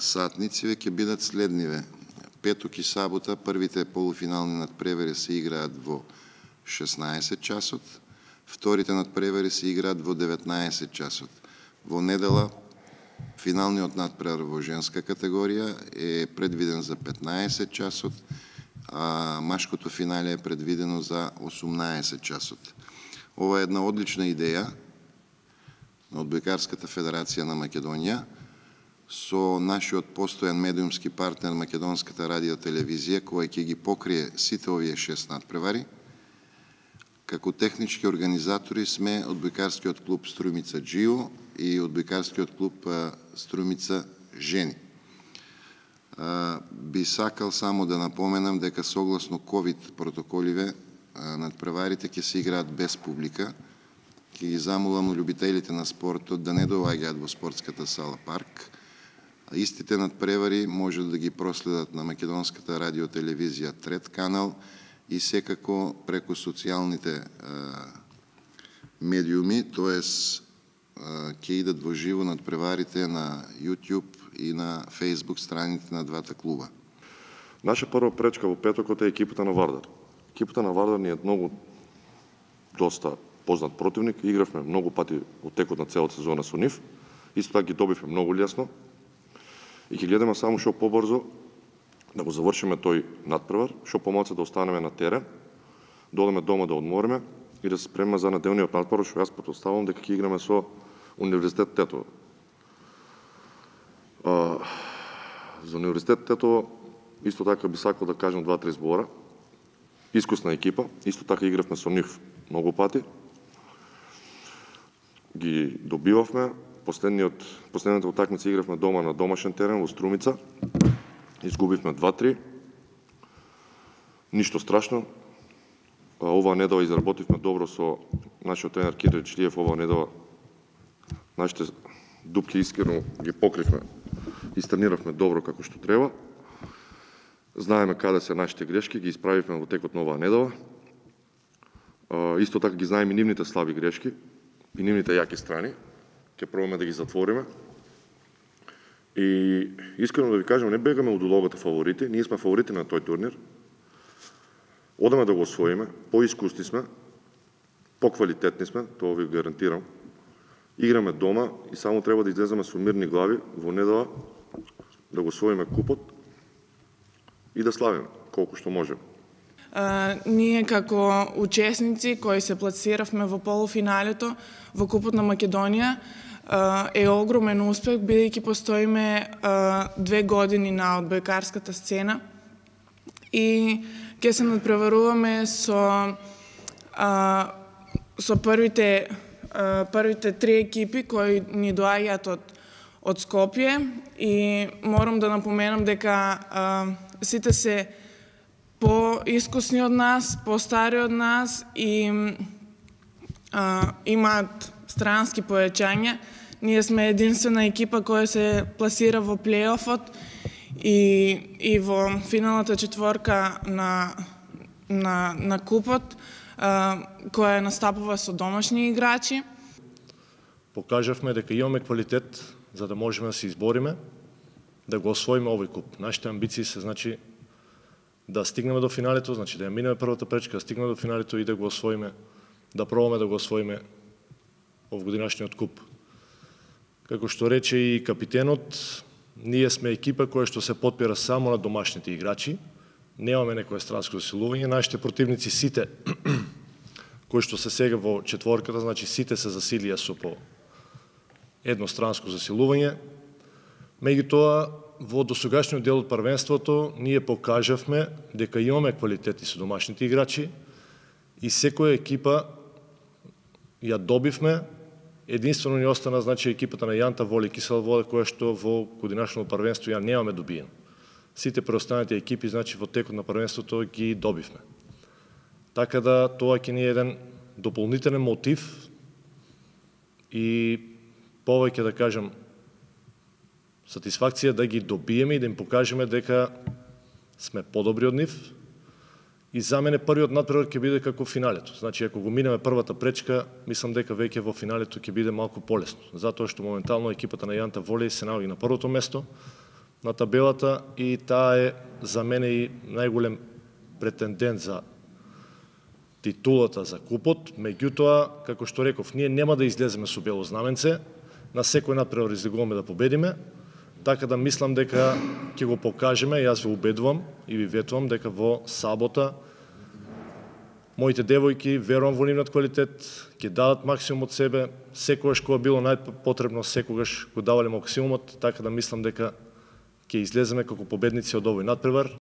сатнициве ќе бидат следниве. Петок и сабота првите полуфинални надпревари се играат во 16 часот, вторите надпревари се играат во 19 часот. Во недела финалниот надпревар во женска категорија е предвиден за 15 часот, а машкото финале е предвидено за 18 часот. Ова е една одлична идеја на Одбојкарската федерација на Македонија со нашиот постојан медиумски партнер Македонската радиотелевизија, која ќе ги покрие сите овие 6 надпревари. Како технички организатори сме Одбојкарскиот клуб Струјмица Джио и Одбојкарскиот клуб Струјмица Жени. Би сакал само да напоменам дека согласно ковид протоколиве надпреварите ќе се играат без публика. Ќе ги замолам љубителите на спортот да не доаѓаат во спортската сала Парк. Истите надпревари може да ги проследат на Македонската радиотелевизија Трет канал и секако преку социјалните медиуми, тоест ќе идат во живо надпреварите на YouTube и на Facebook страниците на двата клуба. Наша прва пречка во петокот е екипата на Вардар. Екипата на Вардар ни е доста познат противник. Игравме многу пати во текот на целата сезона со нив. Исто така ги добивме многу лесно. И ќе гледаме само што побрзо да го завршиме тој надпревар, што помалку да останеме на терен, да одеме дома да одмориме и да се спремиме за неделниот надпревар, што јас претпоставувам дека ќе играме со Универзитет Тетово. За Универзитет Тетово исто така би сакал да кажам 2-3 збора. Искусна екипа, исто така игравме со нив многу пати. Ги добивавме. Последната утакмица игравме дома на домашен терен во Струмица. Изгубивме 2-3. Ништо страшно. Оваа недела изработивме добро со нашиот тренер Кирил Члиев. Оваа недела нашите дупки искрено ги покривме. Истрениравме добро како што треба. Знаеме каде се нашите грешки, ги исправивме во текот на оваа недела. Исто така ги знаеме и нивните слаби грешки и нивните јаки страни. Ќе пробаме да ги затвориме. И искрено да ви кажам, не бегаме од улогата фаворити, ние сме фаворити на тој турнир. Одаме да го освоиме, поискусни сме, поквалитетни сме, тоа ви гарантирам. Играме дома и само треба да излеземе со мирни глави во недела да го освоиме купот и да славиме колку што можеме. Ние како учесници кои се пласиравме во полуфиналето во Купот на Македонија е огромен успех, бидејќи постоиме 2 години на одбојкарската сцена и ќе се надпреваруваме со првите 3 екипи кои ни доаѓаат од Скопје и морам да напоменам дека сите се по-искусни од нас, по-стари од нас и имаат странски појачања. Ние сме единствена екипа која се пласира во плейофот и во финалната четворка на купот, која настапува со домашни играчи. Покажавме дека имаме квалитет за да можеме да се избориме, да го освоиме овој куп. Нашите амбиции се да стигнеме до финалето, да ја минеме првата пречка, да стигнеме до финалето и да го освоиме, да пробаме да го освоиме овогодинашниот куп. Како што рече и капитенот, ние сме екипа која што се потпира само на домашните играчи, немаме некое странско засилување, нашите противници сите кои што се сега во четворката, сите се засилија со по едностранско засилување. Меѓутоа, во досегашниот дел од првенството ние покажавме дека имаме квалитети со домашните играчи и секоја екипа ја добивме. Единствено ни остана екипата на Јанта Воли Кисела Вода, која што во годинашното првенство ја немаме добиено. Сите преостанати екипи во текот на првенството ги добивме. Така да тоа ќе ни е еден дополнителен мотив и повеќе да кажам сатисфакција да ги добиеме и да им покажеме дека сме подобри од нив. И за мене првиот надпревар ќе биде како финалето. Ако го минеме првата пречка, мислам дека веќе во финалето ќе биде малку полесно. Затоа што моментално екипата на Јанта Волеј се наоѓа на првото место, на табелата и таа е за мене и најголем претендент за титулата за купот. Меѓутоа, како што реков, ние нема да излеземе со бело знаменце, на секој надпревар излегуваме да победиме, така да мислам дека ќе го покажеме, јас ве убедувам и ви ветувам дека во сабота моите девојки, верувам во нивниот квалитет, ќе дадат максимум од себе, секогаш кога било најпотребно, секогаш го давале максимумот, така да мислам дека ќе излеземе како победници од овој надпревар